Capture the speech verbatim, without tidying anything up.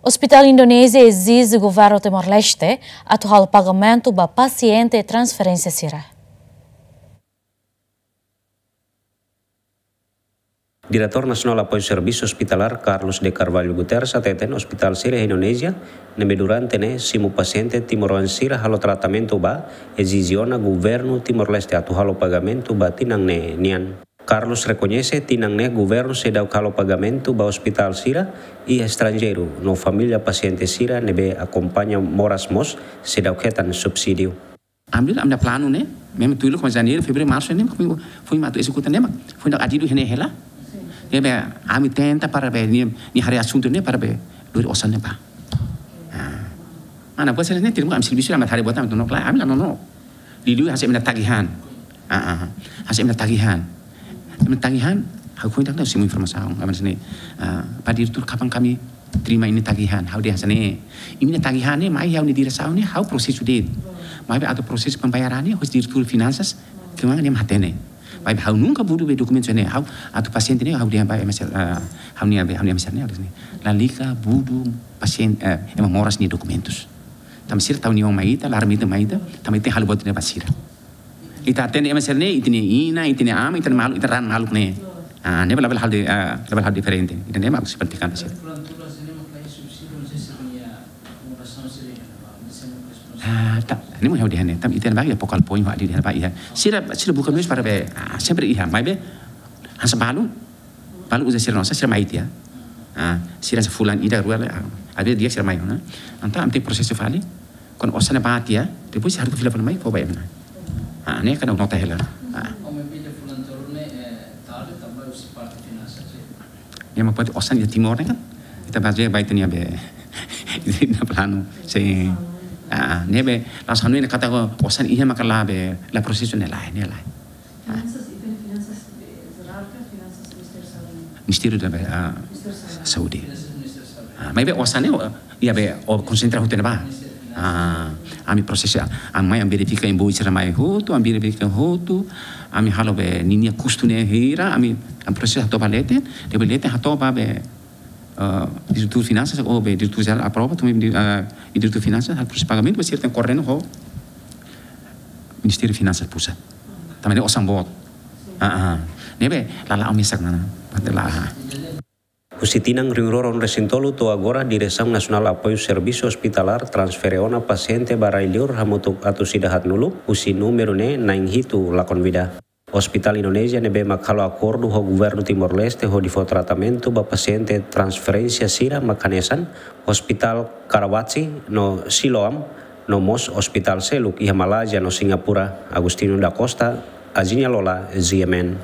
Ospitál Indonézia ezije governu Timor-Leste atu halo pagamentu ba pasiente transferénsia sira. Diretór Nasionál Apoiu Servisu Ospitalar, Carlos de Carvalho Guterres, hateten ospitál sira iha Indonézia ne'ebé durante ne'e simu pasiente timoroan sira halo tratamentu ba, ezije ona governu Timor-Leste atu halo pagamentu ba tinan ne'e nian. Carlos rekoñese tinan ne'e governu seidauk halo pagamentu ba ospitál sira iha estranjeiru, no família pasiente sira ne'ebé akompaña moras mós seidauk hetan subsídiu. Ami, ami-nia planu ne'e, memang tuir loos kona Janeiru, Fevereiru, Marsu ne'e, foin, foin mak atu ezekuta ne'e mak, foin atu adidu iha ne'e hela. Ne'ebé ami tenta para be, nia, nia haree asuntu ne'e para be, lori osan ne'e ba. Ah. Mana buat sira ne'e, terima ami servisu, ami haree buat ami tonok lai, ami la nonook. Liuliu hanesan imi-nia tagihan. Ah, ah, ah. Hanesan imi-nia tagihan. Imi-nia tagihan, ha'u foin tak tahu simu informasaun, ami sini. Ah, Pak Direktur, kapan kami terima imi-nia tagihan? Ha'u dehan hanesan ne'e. Imi-nia tagihan ne'e, mai ha'u-nia diresaun ne'e, ha'u prosesu de'it. Maibé atu prosesu pembayaran ne'e, hosi diretór finanças, kemana nia hatene. Maibé ha'u nunka budu be dokumentu ne'e, ha'u atu pasiente ne'e, ha'u dehan ba M S L, ah, ha'u-nia be, ha'u-nia M S L ne'e, ha'u dehan hanesan ne'e. Lalika budu pasiente, eh, ema moras nia dokumentus. Tanba sira tau nia oan mai ita, laran mai ita, mai ita, tanba ita halo buat ne'e ba sira. Ita atende ema sira ne'e, ita-nia inan, ita-nia aman, ita-nia maluk, ita raan maluk ne'e. Ah, ne'e labele halo de, ah, labele halo diferente. Ida-ne'e mak sipatikan sira. Ah, ta, ne'e mak ha'u dehan ne'e, tanba ita ba iha focal point, ha'u dehan ba iha. Sira, sira buka meius para be, ah, sempre iha, maibé, hanesan balu, balu uza sira-nia osan, sira mai tiha. Ah, sira hanesan fulan ida rua la, ah, ada dia sira mai, nah. Entaun ami tenke prosesu fali, kuandu osan ne'e ba tiha, depois harus fila fali mai, fó ba ema. Ah, ne'e kan nota hela. Ah. Ema pode osan iha Timor ne'e kan. Ita bazeia ba ita-nia be, ita-nia planu. Sin. Ah, ne'ebé, la'ós hanoin katak osan iha maka la be, la prosesu ne'e lae, ne'e lae. Ah. Finansas, ita-nia finansas be jerál ka finansas Ministériu Saúde? Ministériu da be, ah, Ministériu Saúde. Saúde. Finansas Ministériu Saúde. Ah, maibé osan ne'e, iha be, ó konsentra hotu ne'ebá. Ah, ami prosesu, ah, ami mai, ami verifika invoice sira mai hotu, ami verifika hotu, ami halo be ninia kustu ne'e hira, ami, ami prosesu hato'o ba leten, depois leten hato'o ba be, eh, diretór finansas, ou be diretór jerál aprova, tumi, eh, diretór finansas, halo prosesu pagamentu, depois sira tenke koordena ho Ministériu Finansas Pusat. Tanba ne'e osan boot. Ah, ah. Ne'ebé, la la'o mesak ona. Pate la, ah. Husi tinan rihun rua ruanulu-resin-tolu to'o agora, Diresaun Nasionál Apoiu Servisu Ospitalar transfere ona pasiente ba rai-liur hamutuk atus ida haatnulu, husi númeru ne'e na'in hitu lakon vida. Ospitál Indonézia ne'ebé mak halo akordu ho governu Timor-Leste hodi fó tratamentu ba pasiente transferénsia sira mak hanesan Ospitál Karawaci no Siloam, no mós ospitál seluk iha Malázia no Singapura. Agostinho da Costa, Azinia Lola, G M N.